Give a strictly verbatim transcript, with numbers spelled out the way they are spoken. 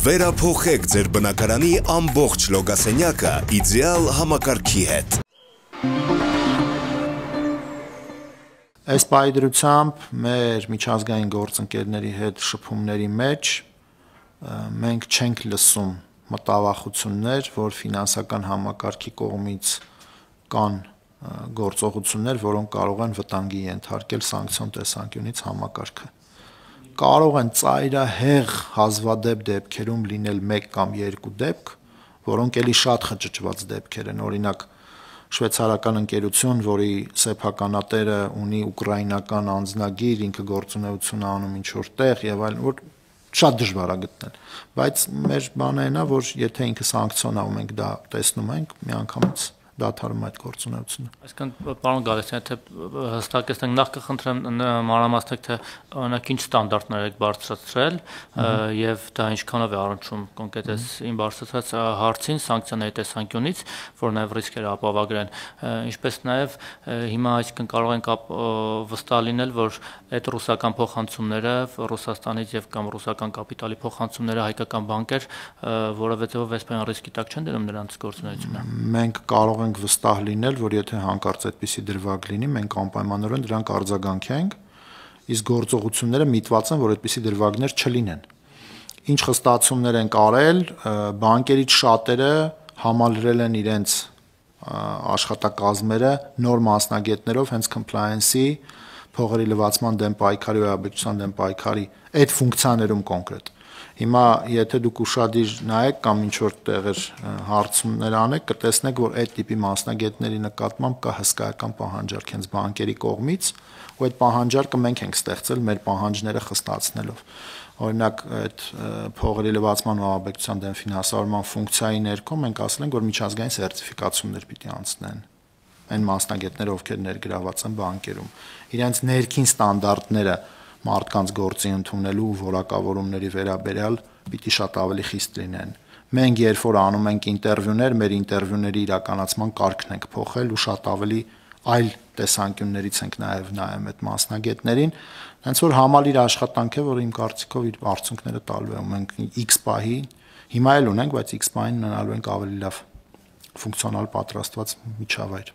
Վերափոխեք ձեր բնակարանի ամբողջ լոգասենյակը իդեալ համակարգի հետ։ Այս պայդրությամբ մեր միջազգային գործընկերների հետ շփումների մեջ մենք չենք լսում մտավախություններ, որ ֆինանսական համակարգի կողմից կան գործողություններ, որոնք կարող են վտանգի ենթարկել սանկցիոն տեսանկյունից համակարգը։ Կարող են ծայրահեղ հազվադեպ դեպքերում լինել մեկ կամ երկու դեպք, որոնք էլի շատ խճճված դեպքեր են, օրինակ շվեյցարական ընկերություն, որի սեփականատերը ունի ուկրաինական անձնագիր, ինքը գործունեություն անում ինչ-որ տեղ եւ այլն, որ շատ դժվար է գտնել, բայց մեր բանը այն է, որ եթե ինքը սանկցիոն ա ու մենք դա տեսնում ենք, միանգամից դադարում այդ գործունեությունը։ Այսինքն, պարոն Գալստյան, թե հստակեցնենք, նախ կխնդրեմ մանրամասնեք, թե օրինակ ինչ ստանդարտներ եք բարձրացրել եւ դա ինչքանով է առնչվում կոնկրետ այս իմ բարձրացած հարցին սանկցիաների տեսանկյունից, որ նաեւ ռիսկերը ապավագրեն, ինչպես նաեւ հիմա այսինքն կարող ենք վստահ լինել, որ այդ ռուսական փոխանցումները Ռուսաստանից եւ կամ ռուսական կապիտալի փոխանցումները հայկական բանկեր, որովհետեւ այսպես ռիսկի տակ չեն դնում նրանց գործունեությունը։ Մենք կարող ենք վստահ լինել, որ եթե հանկարծ այդպիսի դրվագ լինի, մենք անպայմանորեն դրանք արձագանքենք, իսկ գործողությունները միտված են, որ այդպիսի դրվագներ չլինեն։ Ինչ խստացումներ են արել, բանկերից շատերը համալրել են իրենց աշխատակազմերը նոր մասնագետներով հենց compliance-ի, փողերի լվացման դեմ պայքարի ու աբեկչության դեմ պայքարի այդ ֆունկցիաներում կոնկրետ։ Հիմա եթե դուք ուշադիր նայեք կամ ինչ-որ տեղեր հարցումներ անեք, կտեսնեք, որ այդ տիպի մասնագետների նկատմամբ կա հսկայական պահանջարկ հենց բանկերի կողմից, ու այդ պահանջարկը մենք ենք ստեղծել մեր պահանջները խստացնելով։ Օրինակ այդ փողերի լվացման ու աբեկչության դեմ ֆինանսավորման ֆունկցիայի ներքո մենք ասել ենք, որ միջազգային սերտիֆիկացումներ պիտի անցնեն այն մասնագետները, ովքեր ներգրաված են բանկերում։ Իրենց ներքին ստանդարտները մարդկանց գործի ընդունելու որակավորումների վերաբերյալ պիտի շատ ավելի խիստ լինեն։ Մենք երբ որ անում ենք ինտերվյուներ, մեր ինտերվյուների իրականացման կարգն ենք փոխել ու շատ ավելի այլ տեսանկյուններից ենք նաև նայում այդ մասնագետներին, հենց որ համալիր աշխատանք է, որ իմ կարծիքով իր արդյունքները տալու է։ Մենք X պահի հիմա էլ ունենք, բայց X պահին ունենալու ենք ավելի լավ ֆունկցիոնալ պատրաստված միջավայր։